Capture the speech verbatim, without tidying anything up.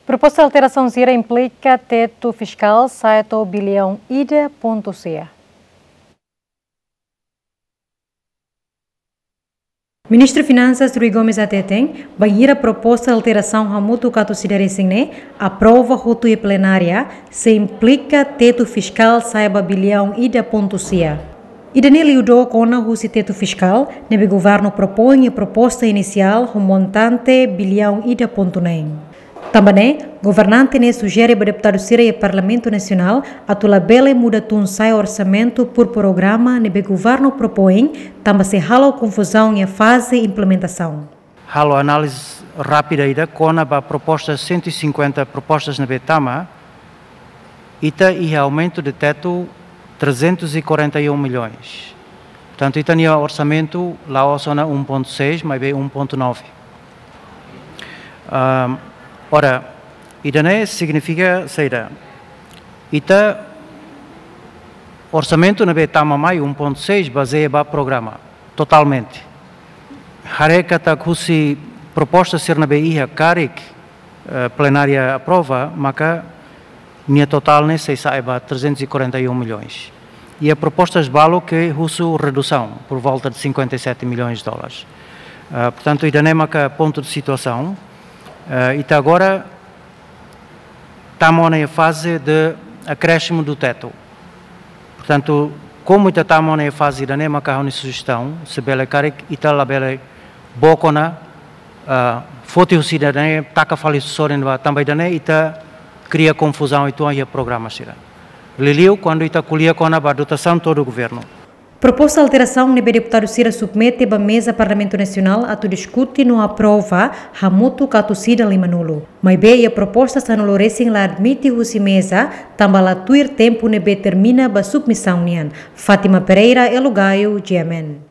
Proposta alterasaun sira implika tetu fiskál sa'e to'o biliaun ida pontu sia. Ministru Finansas Rui Gomes hateten, bainhira proposta alterasaun hamutuk atus ida resin ne'e aprova hotu iha plenária, sei implika tetu fiskál sa'e ba biliaun ida pontu sia. Ida-ne'e liu dook ona husi tetu fiskál ne'ebé governu propoin iha proposta inisiál ho montante biliaun ida pontu neen. Tanba ne'e, governante ne'e sujere ba deputadu sira iha Parlamentu Nasionál atu labele muda tun sa'e orsamentu por programa ne'ebé governu propoin, tanba sei halo konfuzaun iha faze implementasaun. Halo análize rápida ida kona-ba proposta cento e cinquenta propostas ne'ebé tama, ita iha aumento de teto trezentos e quarenta e um milhões. Portanto, ita-nia orsamentu la'ós ona um ponto seis, maibé um ponto nove. Ahm, ora, ida-ne'e signifika saida? Ita orsamentu ne'ebé tama mai um ponto seis bazeia ba programa totalmente. Haree katak husi proposta sira ne'ebé iha karik, eh, plenária aprova, maka nia totál ne'e sei sa'e ba trezentos e quarenta e um milhões. E há propostas balu ke husu redusaun por volta de cinquenta e sete milhões de dólares. Ah, portanto, ida-ne'e maka pontu de situasaun. Ah, ita agora tama ona iha faze de acréscimo do teto. Portanto, komu ita tama ona iha faze ida-ne'e, maka ha'u-nia sujestaun, se bele karik ita labele book ona, ah, foti husi ida-ne'e, taka fali sorin ba, tanba ida-ne'e ita kria konfuzaun uitoan iha programa sira. Liuliu kuandu ita ko'alia kona-ba dotasaun to'o governu. Proposta alterasaun ne'ebé deputadu sira submete ba meza Parlamentu Nasionál atu diskute no aprova hamutuk atus ida limanulu. Maibé iha proposta sanulu resin la admite husi meza, tanba la tuir tempu ne'ebé termina ba submisaun nian. Fátima Pereira, Elo Gaio, G M N.